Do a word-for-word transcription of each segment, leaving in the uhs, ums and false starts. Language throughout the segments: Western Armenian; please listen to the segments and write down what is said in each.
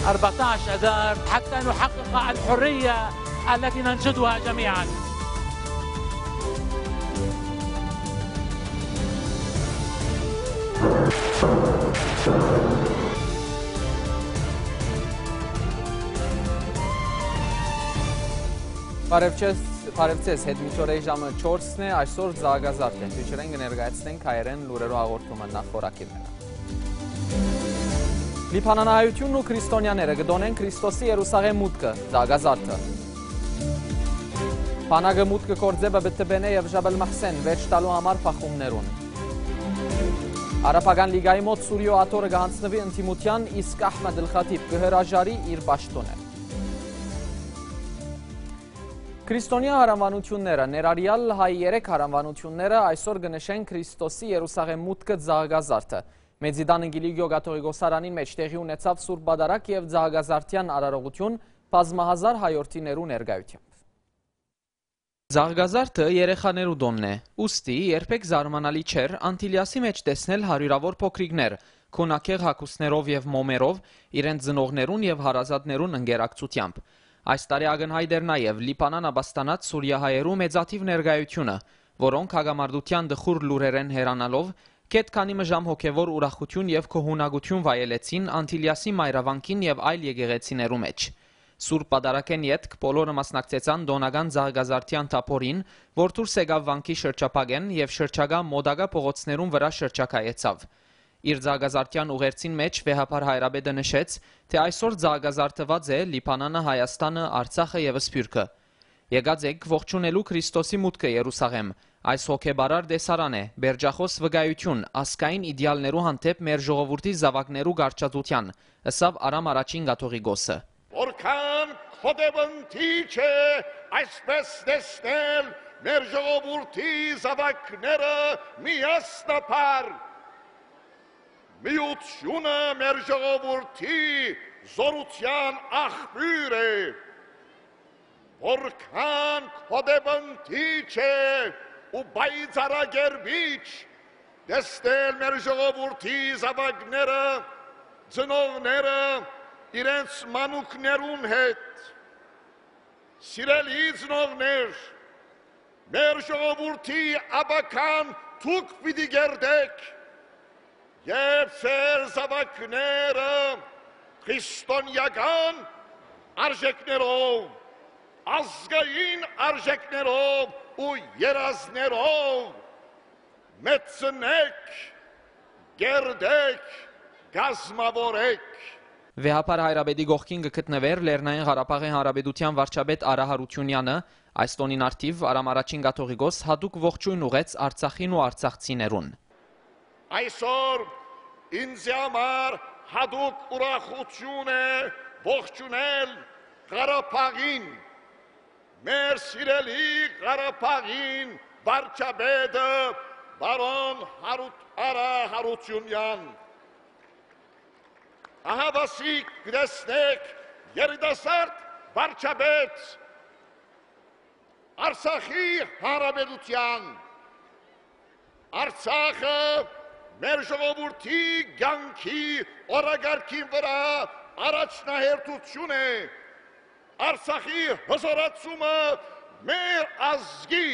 أربعتاش آذار حتى نحقق الحرية التي ننشدها جميعا. Բարեւ ձեզ, բարեւ ձեզ, հետ մինչ օրէ ժամը չորսն է, այսօր Զագազարդ է։ Դուք կներկայացնենք հայերեն լուրերու հաղորդումը, նախ խորագիրները։ Լիբանանահայութիւնն ու քրիստոնեաները կը տօնեն Քրիստոսի Երուսաղէմ մուտքը, Զագազարդը։ Բանակը մուտքը գործէ Պտտպենէ եւ Ժաբըլ Մահսեն վերջ տալու համար բախումներուն։ Արաբական լիգայի մօտ Սուրիոյ աթոռը կը յանձնուի ընդդիմութեան, իսկ Ահմեդ Ալ Խաթիբ կը հրաժարի իր պաշտօնէն։ Քրիստոնեայ յարաւանութիւնները, ներառեալ հայ երեք յարաւանութիւնները, այսօր կը նշեն Քրիստոսի Երուսաղէմ մուտքը, Զագազարդը։ Մեծի տան Կիլիկիոյ կաթողիկոսարանին մէջ տեղի ունեցաւ Սուրբ Պատարագ եւ Զագազարդեան արարողութիւն բազմահազար հայորդիներու ներկայութեամբ։ Զագազարդը երեխաներու տօնն է, ուստի երբեք զարմանալի չէր Անտիլիասի մէջ տեսնել հարիւրաւոր փոքրիկներ, քունագեղ հագուստներով եւ մոմերով, իրենց ծնողներուն եւ հարազատներուն ընկերակցութեամբ։ Այս տարի ակնյայտ էր նաեւ Լիբանան ապաստանած սուրիահայերու մեծաթիւ ներկայութիւնը, որոնք հակամարտութեան տխուր լուրերէն հեռանալով, գէթ քանի մը ժամ հոգեւոր ուրախութիւն եւ գոհունակութիւն վայելեցին Անտիլիասի մայրավանքին եւ այլ եկեղեցիներու մէջ։ Սուրբ Պատարագէն ետք բոլորը մասնակցեցան տօնական Զագազարդեան թափօրին, որ դուրս եկաւ վանքի շրջափակէն եւ շրջակայ մօտակայ փողոցներուն վրայ շրջագայեցաւ։ Իր Զագազարդեան ուղերձին մէջ Վեհափառ Հայրապետը նշեց, թէ այսօր զագազարդուած է Լիբանանը, Հայաստանը, Արցախը եւ Սփիւռքը։ Եկած ենք ողջունելու Քրիստոսի մուտքը Երուսաղէմ։ Այս հոգեբարար տեսարան է, պերճախօս վկայութիւն ազգային իդեալներու հանդէպ մեր ժողովուրդի զաւակներու կառչածութեան, ըսաւ Արամ Առաջին կաթողիկոսը։ Որքան գոհեւնտիչ է այսպես տեսնել մեր ժողովուրդի զաւակները միասնաբար։ Միութիւնը մեր ժողովուրդի զօրութեան աղբիւր է։ Որքան գոհեւնտիչ է ու պայծառակերպիչ տեսնել մեր ժողովուրդի զաւակները, ծնողները իրենց մանուկներուն հետ։ Սիրելի ծնողներ, մեր ժողովուրդի ապագան դուք պիտի կերտէք, երբ ձեր զաւակները քրիստոնեական արժեքներով, ազգային արժեքներով ու երազներով մեծցնէք, կերտէք, կազմաւորէք։ Վեհափառ Հայրապետի կողքին կը գտնուէր Լեռնային Ղարաբաղի Հանրապետութեան վարչապետ Արա Յարութիւնեանը։ Այս տօնին առթիւ Արամ Առաջին կաթողիկոս յատուկ ողջոյն ուղղեց Արցախին ու արցախցիներուն։ Այսօր ինձ համար յատուկ ուրախութիւն է ողջունել Ղարաբաղին, մեր սիրելի Ղարաբաղին վարչապետը պարոն Հարութ-, Արա Յարութիւնեան։ Ահավասիկ կը տեսնէք երիտասարդ վարչապետ Արցախի Հանրապետութեան։ Արցախը մեր ժողովուրդի կեանքի օրակարգին վրայ առաջնահերթութիւն է։ Արցախի հզօրացումը մեր ազգի,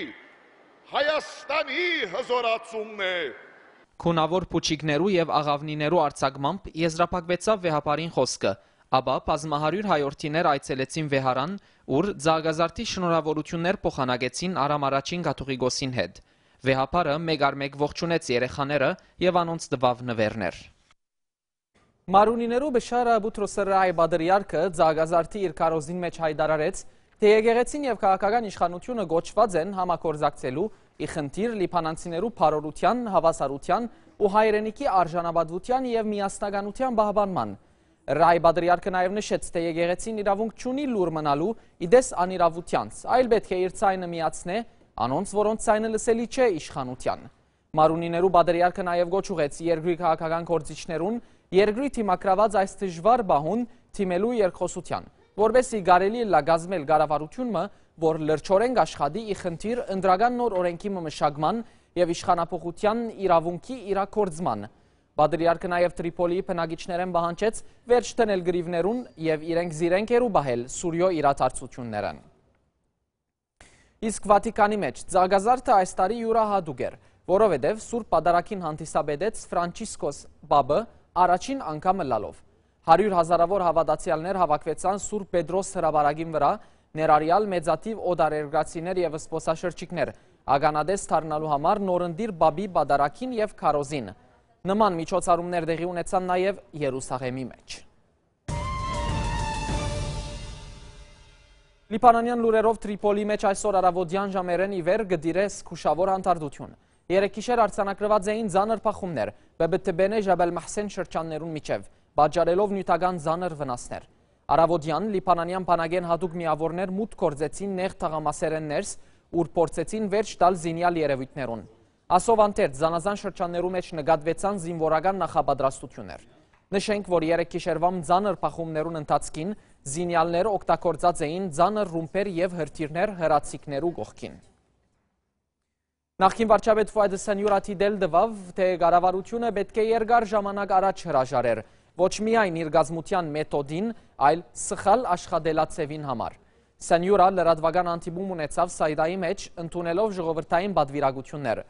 Հայաստանի հզօրացումն է։ Քունաւոր փուչիկներու եւ աղաւնիներու արձակմամբ եզրափակուեցաւ Վեհափառին խօսքը, ապա բազմահարիւր հայորդիներ այցելեցին Վեհարան, ուր Զագազարդի շնորհաւորութիւններ փոխանակեցին Արամ Առաջին կաթողիկոսին հետ։ Վեհափառը մէկ առ մէկ ողջունեց երեխաները եւ անոնց տուաւ նուէրներ։ Մարունիներու Բշարա Բութրոսը Ռայ Պատրիարքը Զագազարդի իր քարոզին մէջ յայտարարեց, թէ եկեղեցին եւ քաղաքական իշխանութիւնը կոչուած են համագործակցելու ի խնդիր լիբանանցիներու բարօրութեան, հաւասարութեան ու հայրենիքի արժանապատուութեան եւ միասնականութեան պահպանման։ Ռայ Պատրիարքը նաեւ նշեց, թէ եկեղեցին իրաւունք չունի լուր մնալու ի տես անիրաւութեանց, այլ պէտք է իր ձայնը միացնէ անոնց, որոնց ձայնը լսելի չէ իշխանութեան։ Մարունիներու Պատրիարքը նաեւ կոչ ուղղեց երկրի քաղաքական գործիչներուն երկրի դիմագրաւած այս դժուար պահուն դիմելու երկխօսութեան, որպէս զի կարելի ըլլայ կազմել կառավարութիւն մը, որ լրջօրէն կաշխատի ի խնդիր ընտրական նոր օրէնքի մը մշակման եւ իշխանափոխութեան իրաւունքի իրագործման։ Պատրիարքը նաեւ Տրիփոլիի բնակիչներէն պահանջեց վերջ դնել կռիւներուն եւ իրենք զիրենք հեռու պահել Սուրիոյ իրադարձութիւններէն։ Իսկ Վատիկանի մէջ ծաղկազարդը այս տարի իւրայատուկ էր, որովհետեւ Սուրբ Պատարագին հանդիսապետեց Ֆրանչիսկոս Պապը առաջին անգամ ըլլալով։ Հարիւր հազարաւոր հաւատացեալներ հաւաքուեցան Սուրբ Պետրոս հրապարակին վրայ, ներառեալ մեծաթիւ օտարերկրացիներ եւ զբօսաշրջիկներ, ականատես դառնալու համար նորընտիր Պապի պատարագին եւ քարոզին։ Նման միջոցառումներ տեղի ունեցան նաեւ Երուսաղեմի մէջ։ Լիբանանեան լուրերով, Տրիփոլի մէջ այսօր առաւօտեան ժամերէն ի վեր կը տիրէ զգուշաւոր հանդարտութիւն։ Երեքգիշեր արձանագրուած էին ծանր բախումներ Բեբթ Բենե Ժաբել Մահսեն շրջաններուն միջեւ, պատճառելով նիւթական ծանր վնասներ։ Առաւօտեան լիբանանեան բանակէն յատուկ միաւորներ մուտք գործեցին նեղ թաղամասերէն ներս, ուր փորձեցին վերջ տալ զինեալ երեւոյթներուն։ Ասով անդերձ, զանազան շրջաններու մէջ նկատուեցան զինուորական նախապատրաստութիւններ։ Նշենք, որ երեքգիշերուան ծանր բախումներուն ընթացքին զինեալներ օգտագործած էին ծանր ռումբեր եւ հրթիռներ հրաձիգներու կողքին։ Նախկին վարչապետ Ֆուադ Սենիուրա դիտել տուաւ, թէ կառավարութիւնը պէտք է երկար ժամանակ առաջ հրաժարեր ոչ միայն իր կազմութեան մեթոդին, այլ սխալ աշխատելաձեւին համար։ Սենիուրա լրատուական հանդիպում ունեցաւ Սայդայի մէջ, ընդունելով ժողովրդային պատուիրակութիւններ։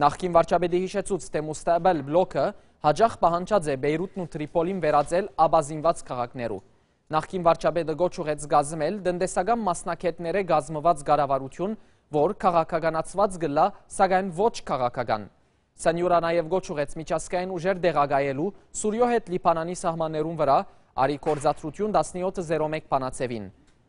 Նախկին վարչապետը յիշեցուց, թէ Մուստաղբալ բլոքը յաճախ պահանջած է Պեյրութն ու Տրիփոլին վերածել ապազինուած քաղաքներու։ Նախկին վարչապետը կոչ ուղղեց կազմել տնտեսական մասնագէտներէ կազմուած կառավարութիւն, որ քաղաքականացուած կ'ըլլայ, սակայն ոչ քաղաքական։ Սենիուրա նաեւ կոչ ուղղեց միջազգային ուժեր տեղակայելու Սուրիոյ հետ Լիբանանի սահմաններուն վրայ, արի գործադրութիւն տասնեօթը զերո մէկ բանաձեւին։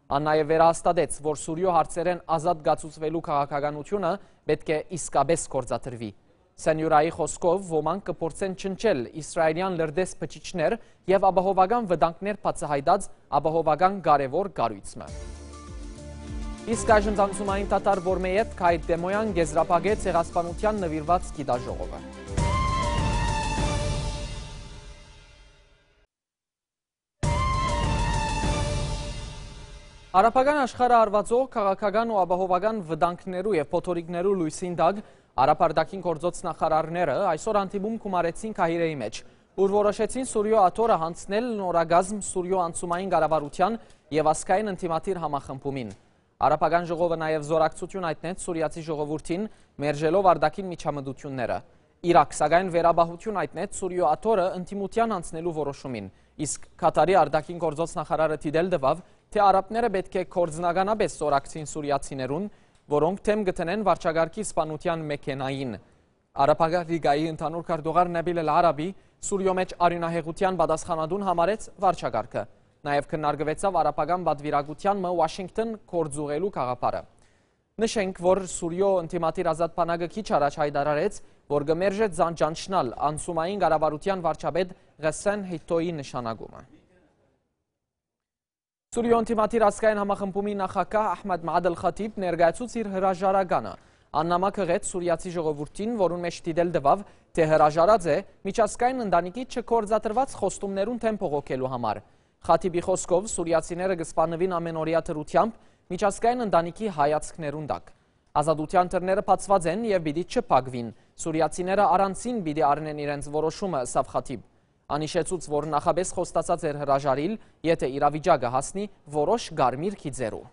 Ան նաեւ վերահաստատեց, որ Սուրիոյ հարցերէն ազատ կացուցուելու քաղաքականութիւնը պէտք է իսկապէս գործադրուի։ Սենիուրայի խօսքով, ոմանք կը փորձեն ջնջել իսրայելեան լրտես բջիջներ եւ ապահովական վտանգներ բացայայտած ապահովական կարեւոր կառոյց մը։ Իսկ այժմ անցումային թաթար, որ մը ետք Հայ Տեմոյան կեզրափակեց Ցեղասպանութեան նուիրուած գիտաժողովը։ Արաբական աշխարհը արուածող քաղաքական ու ապահովական վտանգներու եւ փոթորիկներու լոյսին տակ Արաբարտակին գործոց նախարարները այսօր հանդիպում գումարեցին Քահիրեի մէջ, ուր որոշեցին Սուրիոյ աթոռը յանձնել նորակազմ Սուրիոյ անցումային կառավարութեան եւ ազգային ընդդիմադիր համախմբումին։ Արաբական ժողովը նաեւ զօրակցութիւն հայտնեց սուրիացի ժողովուրդին՝ մերժելով արտաքին միջամտութիւնները։ Իրաք, սակայն, վերապահութիւն հայտնեց Սուրիոյ աթոռը ընդդիմութեան յանձնելու որոշումին, իսկ Քաթարի արտաքին գործոց նախարարը դիտել տուաւ, թէ արաբները պէտք է գործնականապէս զօրակցին սուրիացիներուն, որոնք դէմ կը դնեն վարչակարգի սպանութեան մեքենային։ Արաբական լիգայի ընդհանուր քարտուղար Նաբիլ Ալ Արաբի Սուրիոյ մէջ արիւնահեղութեան պատասխանատուն համարեց վարչակարգը։ Նաեւ քննարկուեցաւ արաբական պատուիրակութեան մը Ուաշինկթոն գործուղղելու գաղափարը։ Նշենք, որ Սուրիոյ ընդդիմադիր Ազատ բանակը քիչ առաջ յայտարարեց, որ կը մերժէ զան ճանչնալ անցումային կառավարութեան վարչապետ Ղեսսեն Հիթոյի նշանակումը։ Սուրիոյ ընդդիմադիր ազգային համախմբումի նախագահ Ահմեդ Մադ Ալ Խաթիբ ներկայացուց իր հրաժարականը։ Ան նամակ յղեց սուրիացի ժողովուրդին, որուն մէջ դիտել տուաւ, թէ հրաժարած է միջազգային ընտանիքի չգործադրուած խոստումներուն դէմ բողոքելու համար։ Խաթիբի խօսքով, սուրիացիները կը սպաննուին ամենօրեայ դրութեամբ միջազգային ընտանիքի հայացքներուն տակ։ Ազատութեան դռները բացուած են եւ պիտի չփակուին։ Սուրիացիները առանձին պիտի առնեն իրենց որոշումը, ըսաւ Խաթիբ։ Ան յիշեցուց, որ նախապէս խոստացած էր հրաժարիլ, եթէ իրավիճակը հասնի որոշ կարմիր գիծերու։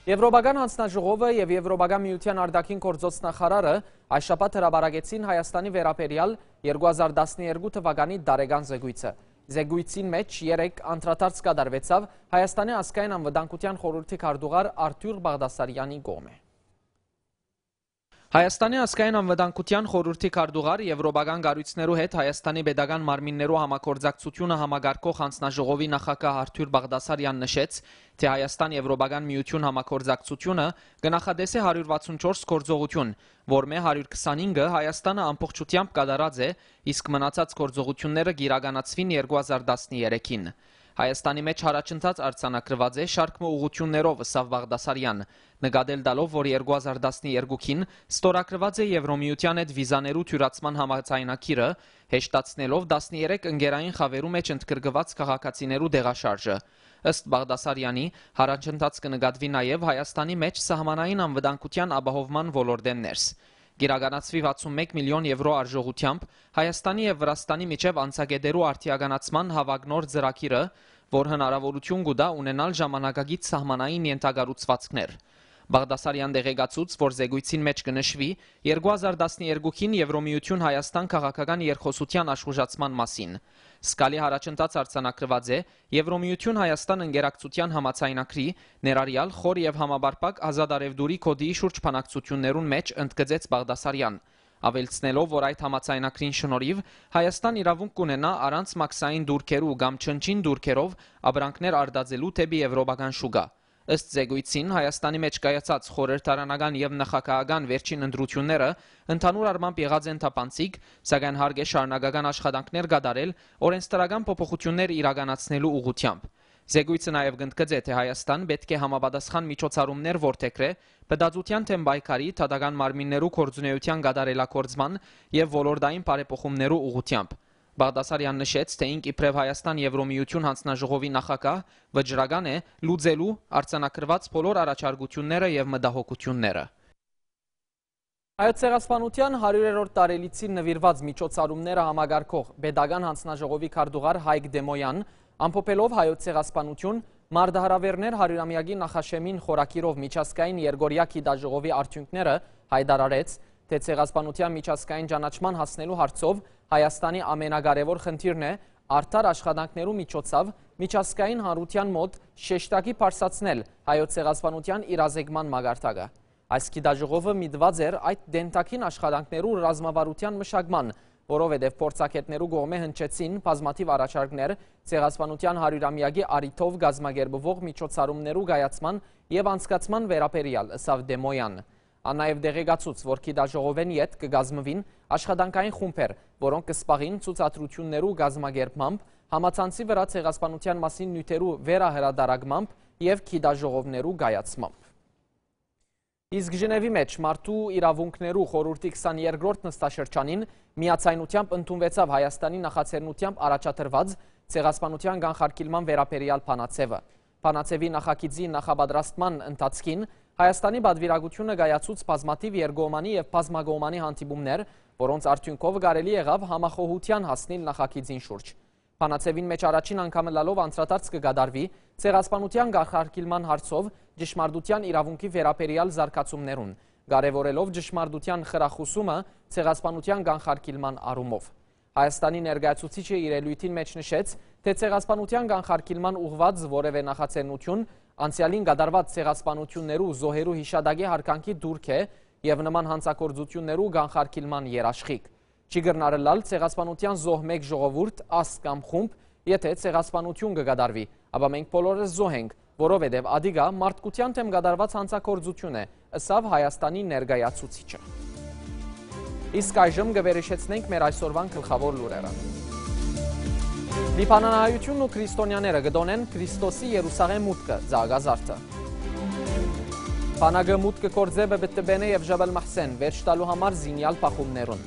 Եվրոպական յանձնաժողովը եւ Եվրոպական միութեան արտաքին գործոց նախարարը այս շաբաթ հրապարակեցին Հայաստանի վերաբերեալ երկու հազար տասներկու թուականի տարեկան զեկոյցը։ Զեկոյցին մէջ երեկ անդրադարձ կատարուեցաւ Հայաստանի ազգային անվտանգութեան խորհրդի քարտուղար Արթուր Բաղդասարեանի կողմէ։ Հայաստանի ազգային անվտանգութեան խորհրդի քարտուղար Եվրոպական կառոյցներու հետ Հայաստանի պետական մարմիններու համագործակցութիւնը համակարգող յանձնաժողովի նախագահ Արթուր Բաղդասարեան նշեց, թէ Հայաստան Եվրոպական միութիւն համագործակցութիւնը կը նախատեսէ հարիւր վաթսուն չորս գործողութիւն, որմէ հարիւր քսանհինգը Հայաստանը ամբողջութեամբ կատարած է, իսկ մնացած գործողութիւնները կ'իրականացուին երկու հազար տասներեքին։ Հայաստանի մէջ յառաջընթաց արձանագրուած է շարք մը ուղղութիւններով, ըսաւ Բաղդասարեան, նկատել տալով, որ երկու հազար տասներկուին ստորագրուած է Եվրոմիութեան հետ վիզաներու թիւրացման համաձայնագիրը, հեշտացնելով տասներեք ընկերային խաւերու մէջ ընդգրկուած քաղաքացիներու տեղաշարժը։ Ըստ Բաղդասարեանի, յառաջընթաց կը նկատուի նաեւ Հայաստանի մէջ սահմանային անվտանգութեան ապահովման ոլորտէն ներս։ Իրականացուի վաթսուն մէկ միլիոն եվրո արժողութեամբ Հայաստանի եւ Վրաստանի միջեւ անցակէտերու արդիականացման հաւագնոր ծրագիրը, որ հնարաւորութիւն կու տայ ունենալ ժամանակակից սահմանային ենթակառուցուածքներ։ Բաղդասարեան տեղեկացուց, որ զեկոյցին մէջ կը նշուի երկու հազար տասներկուին Եվրոմիութիւն Հայաստան քաղաքական երկխօսութեան աշխուժացման մասին։ Զգալի յառաջընթաց արձանագրուած է Եվրոմիութիւն Հայաստան ընկերակցութեան համաձայնագրի, ներառեալ խոր եւ համապարփակ ազատ առեւտուրի կոդի շուրջ բանակցութիւններուն մէջ, ընդգծեց Բաղդասարեան, աւելցնելով, որ այդ համաձայնագրին շնորհիվ Հայաստան իրաւունք կունենայ առանց մաքսային տուրքերու կամ չնչին տուրքերով ապրանքներ արտածելու դէպի եվրոպական շուկայ։ Ըստ զեկոյցին, Հայաստանի մէջ կայացած խորհրդարանական եւ նախագահական վերջին ընտրութիւնները ընդհանուր առմամբ եղած են թափանցիկ, սակայն հարկ է շարունակական աշխատանքներ կատարել օրենսդրական փոփոխութիւններ իրականացնելու ուղղութեամբ։ Զեկոյցը նաեւ կընդգծէ, թէ Հայաստան պէտք է համապատասխան միջոցառումներ որդեգրէ փտածութեան դէմ պայքարի, դատական մարմիններու գործունեութեան կատարելագործման եւ ոլորտային բարեփոխումներու ուղղութեամբ։ Բաղդասարեան նշեց, թէ ինք իբրեւ Հայաստան Եվրոմիութիւն յանձնաժողովի նախագահ վճռական է լուծելու արձանագրուած բոլոր առաջարկութիւնները եւ մտահոգութիւնները։ Հայոց ցեղասպանութեան հարիւրերորդ տարելիցին նուիրուած միջոցառումները համակարգող պետական յանձնաժողովի քարտուղար Հայկ Դեմոյան, ամփոփելով Հայոց ցեղասպանութիւն, մարտահրաւէրներ հարիւրամեակի նախաշեմին խորագիրով միջազգային երկօրեայ գիտաժողովի արդիւնքները, յայտարարեց, թէ ցեղասպանութեան միջազգային ճանաչման հասնելու հարցով Հայաստանի ամենակարեւոր խնդիրն է արդար աշխատանքներու միջոցով միջազգային հանրութեան մօտ շեշտակի բարձրացնել Հայոց ցեղասպանութեան իրազեկման մակարդակը։ Այս գիտաժողովը միտուած էր այդ դենտագին աշխատանքներու ռազմավարութեան մշակման, որովհետեւ փորձագէտներու կողմէ հնչեցին բազմաթիւ առաջարկներ ցեղասպանութեան հարիւրամեակի առիթով կազմակերպուող միջոցառումներու կայացման եւ անցկացման վերաբերեալ, ըսաւ Դեմոյան։ Ան նաեւ տեղեկացուց, որ գիտաժողովէն ետք կը կազմուին աշխատանքային խումբեր, որոնք կը զբաղին ցուցադրութիւններու կազմակերպմամբ, համացանցի վրայ ցեղասպանութեան մասին նիւթերու վերահրատարակմամբ եւ գիտաժողովներու կայացմամբ։ Իսկ Ժնեւի մէջ մարդու իրաւունքներու խորհուրդի քսաներկրորդ նստաշրջանին միաձայնութեամբ ընդունուեցաւ Հայաստանի նախաձեռնութեամբ առաջադրուած ցեղասպանութեան կանխարգիլման վերաբերեալ բանաձեւը։ Բանաձեւի նախագիծի նախապատրաստման ընթացքին Հայաստանի պատուիրակութիւնը կայացուց բազմաթիւ երկկողմանի եւ բազմակողմանի հանդիպումներ, որոնց արդիւնքով կարելի եղաւ համախոհութեան հասնիլ նախագիծին շուրջ։ Բանաձեւին մէջ առաջին անգամ ըլլալով անդրադարձ կը կատարուի ցեղասպանութեան կանխարգիլման հարցով ճշմարտութեան իրաւունքի վերաբերեալ զարգացումներուն, կարեւորելով ճշմարտութեան խրախուսումը ցեղասպանութեան կանխարգիլման առումով։ Հայաստանի ներկայացուցիչը իր ելոյթին մէջ նշեց, թէ ցեղասպանութեան կանխարգիլման ուղղուած որեւէ նախաձեռնութիւն անցեալին կատարուած ցեղասպանութիւններու զոհերու յիշատակի յարգանքի տուրք է եւ նման յանցագործութիւններու կանխարգիլման երաշխիք։ Չի կրնար ըլլալ ցեղասպանութեան զոհ մէկ ժողովուրդ, ազգ կամ խումբ, եթէ ցեղասպանութիւն կը կատարուի, ապա մենք բոլորս զոհ ենք, որովհետեւ ատիկա մարդկութեան դէմ կատարուած յանցագործութիւն է, ըսաւ Հայաստանի ներկայացուցիչը։ Իսկ այժմ կը վերհիշեցնենք մեր այսօրուան գլխաւոր լուրերը։ Լիբանանահայութիւնն ու քրիստոնեաները կը տօնեն Քրիստոսի Երուսաղէմ մուտքը, Ծաղկազարդը։ Բանակը մուտք կը գործէ Բպտբենե եւ Ժաբալ Մահսեն վերջ տալու համար զինեալ բախումներուն։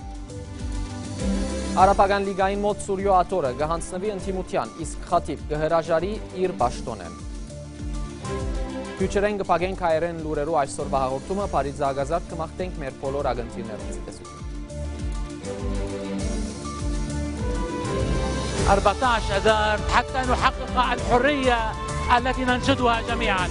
Արաբական լիգային մօտ Սուրիոյ աթոռը կը յանձնուի ընդդիմութեան, իսկ Խաթիվ կը հրաժարի իր պաշտօնէն։ Քիչ րեն կը փակենք հայերէն լուրերու այսօրվա հաղորդումը, բարի Ծաղկազարդ, կը մաղթենք մեր բոլոր ակնթիռներուն ցտեսութիւն։ أربعتاش آذار حتى نحقق الحرية التي ننشدها جميعا.